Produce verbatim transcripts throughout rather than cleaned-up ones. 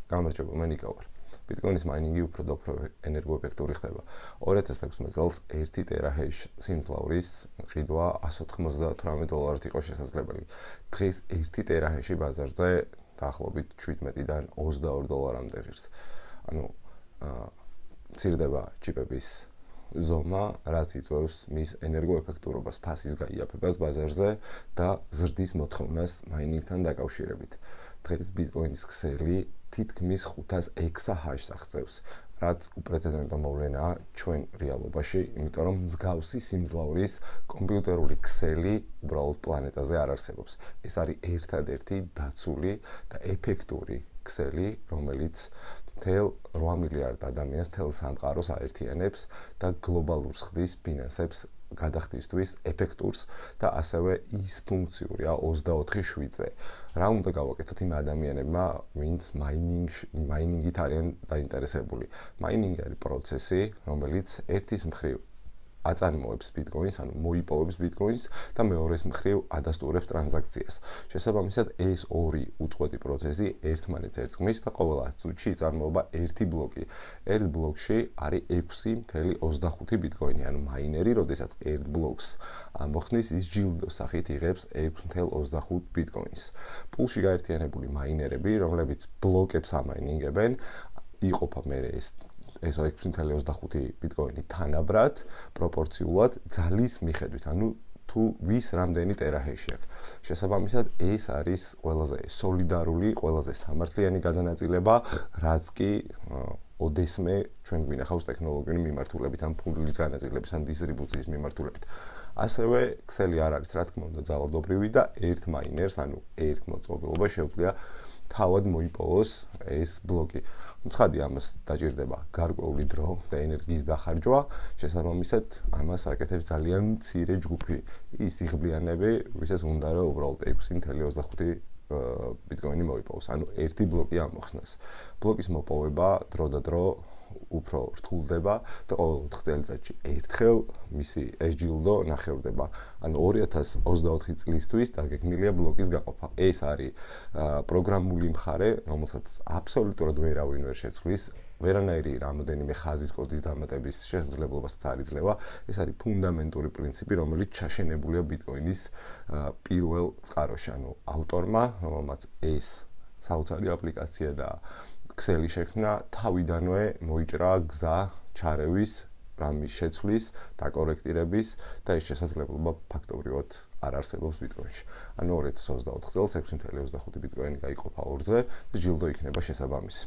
გამარჯობა, მე ნიკა ვარ. Bitcoin-ის მაინინგი უფრო და უფრო ენერგოეფექტური ხდება. ორი ათას ექვსმეტ წელს ერთი ტერაჰეშ სიმძლავრის ყიდვა εκατს ოცდაოთხ დოლარად იყო შესაძლებელი. დღეს ერთი ტერაჰეში ბაზარზე დაახლოებით შვიდმეტიდან ოცდაორი დოლარამდე ღირს. ანუ მცირდება ჩიპების ზომა, რაც იწვევს მის ენერგოეფექტურობას, ფასის გაიაფებას ბაზარზე და ზრდის მოთხოვნას მაინინგთან დაკავშირებით. დღეს Bitcoin-ის ქსელი თითქმის ხუთას ექვსს ჰაშს აღწევს, რაც უპრეცედენტო მოვლენაა ჩვენ რეალობაში, იმიტომ რომ მსგავსი სიმძლავრის კომპიუტერული ქსელი უბრალოდ პლანეტაზე არ არსებობს. ეს არის ერთადერთი დაცული და ეფექტური ქსელი, რომელიც მთელ რვა მილიარდ ადამიანს თელ სამყაროს აერთიანებს და გლობალურს ხდის ფინანსებს გადახდისთვის ეფექტურს და ასევე ის ფუნქციურია ოცდაოთხი შვიდზე. რა უნდა გავაკეთოთ იმ ადამიანებმა, ვინც მაინინგ მაინინგით არიან დაინტერესებული. მაინინგი არის პროცესი, რომელიც ერთის მხრივ აწარმოებს Bitcoin-ს, ანუ მოიპოვებს Bitcoin-ს და მეორეს მხრივ ადასტურებს ტრანზაქციას. შესაბამისად, ეს ორი უწყვეტი პროცესი ერთმანეთს ერწყმის და ყოველ ათს წუთში იწარმოება ერთი ბლოკი. ერთ ბლოკში არის ექვსი ათეული ოცდახუთი Bitcoin-ი, ანუ მაინერი, როდესაც ერთ ბლოკს ამოხსნის, ის ჯილდოს სახით იღებს ექვსი ათეული ოცდახუთ Bitcoin-ს. პულში გაერთიანებული მაინერები, რომლებიც ბლოკებს ამაინინგებენ, იყოფა მერე ეს ეს ექვსი ათეული ოცდახუთი Bitcoin-ი თანაბრად, პროპორციულად ძალის მიხედვით, ანუ თუ ვის რამდენი ტერაჰეში აქვს. შესაბამისად, ეს არის ყველაზე სოლიდარული, ყველაზე სამართლიანი გადანაწილება, რაც კი ოდესმე ჩვენ გვინახავს ტექნოლოგიური მიმართულებით, ან ფულის განაწილების, ან დისტრიბუციის მიმართულებით. ასევე ქსელი არ არის, რა თქმა უნდა, ძალადობრივი და ერთ მაინერს, ანუ ერთ მოწყობილობა შეუძლია თავად მოიპოვოს ეს ბლოკი. ცხადი ამას დაჭირდება გარკვეული დრო და ენერგიის დახარჯვა, შესაბამისად ამას აკეთებს ძალიან მცირე ჯგუფი ის იღბლიანები, ვისაც უნდა რომ უბრალოდ ექვსი ათეული ოცდახუთი Bitcoin-ი მოიპოვოს, ანუ ერთი ბლოკი ამოხსნას. ბლოკის მოპოვება დრო და დრო უფრო რთულდება და ყოველ ოთხ წელიწადში ერთხელ მისი ეს ჯილდო ნახევდება. ანუ ორი ათას ოცდაოთხი წლისთვის დაგეგმილია ბლოკის გაყოფა. ეს არის პროგრამული მხარე, რომელსაც აბსოლუტურად ვერავინ ვერ შეცვლის. ვერანაირი რამოდენიმე ხაზის კოდის დამატების შესაძლებლობასაც არ იძლევა. ეს არის ფუნდამენტური პრინციპი, რომელიც ჩაშენებულია Bitcoin-ის პირველ წყაროში. ანუ ავტორმა, რომელმაც ეს საოცარი აპლიკაცია და ქსელი შექმნა, თავიდანვე მოიჭრა გზა ჩარევის, რამის შეცვლის, დაკორექტირების და ეს შესაძლებლობა ფაქტობრივად არ არსებობს Bitcoin-ში. ანუ ორი ათას ოცდაოთხ წელს ექვსი ათეული ოცდახუთი Bitcoin-ი გაიყოფა ორზე და ჯილდო იქნება შესაბამისი.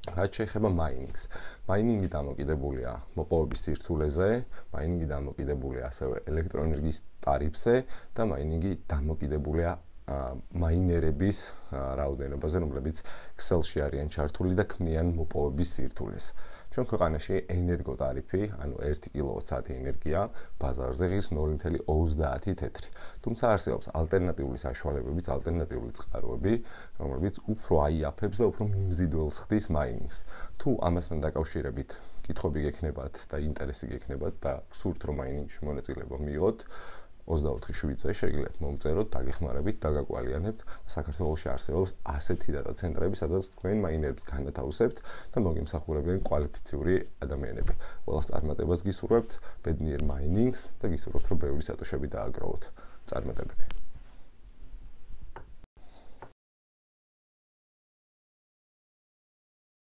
რაც შეეხება მაინინგს. მაინინგი დამოკიდებულია მოპოვების სირთულეზე, მაინინგი დამოკიდებულია ასევე ელექტროენერგიის ტარიფზე და მაინინგი დამოკიდებულია მაინერების რაოდენობაზე, რომლებიც ქსელში არიან ჩართული და ქმნიან მოპოვების სირთულეს. ჩვენ ქვეყანაში ენერგოტარიფი, ანუ ერთი კილოვატ-საათი ენერგია ბაზარზე ღირს ნული ათეული ოცდაათი თეთრი. თუმცა არსებობს ალტერნატიული საშუალებებიც, ალტერნატიული წყაროები, რომლებიც უფრო აიაფებს და უფრო მიმზიდველს ხდის მაინინგს. თუ ამასთან დაკავშირებით კითხვები გექნებათ და ინტერესი გექნებათ და გსურთ რომ მაინინგში მონაწილეობა მიიღოთ, ოცდაოთხი შვიდზე შეგიძლიათ მომწეროთ, დაგეხმარებით, დაგაკვალიანებთ. საქართველოში არსებობს ასეთი დატა ცენტრები, სადაც თქვენ მაინერებს განათავსებთ და მოგიმსახურებიან კვალიფიციური ადამიანები. ყველას წარმატებას გისურვებთ, ბედნიერ მაინინგს და გისურვებთ, რომ ბევრი სატოშები დააგროვოთ. წარმატებები.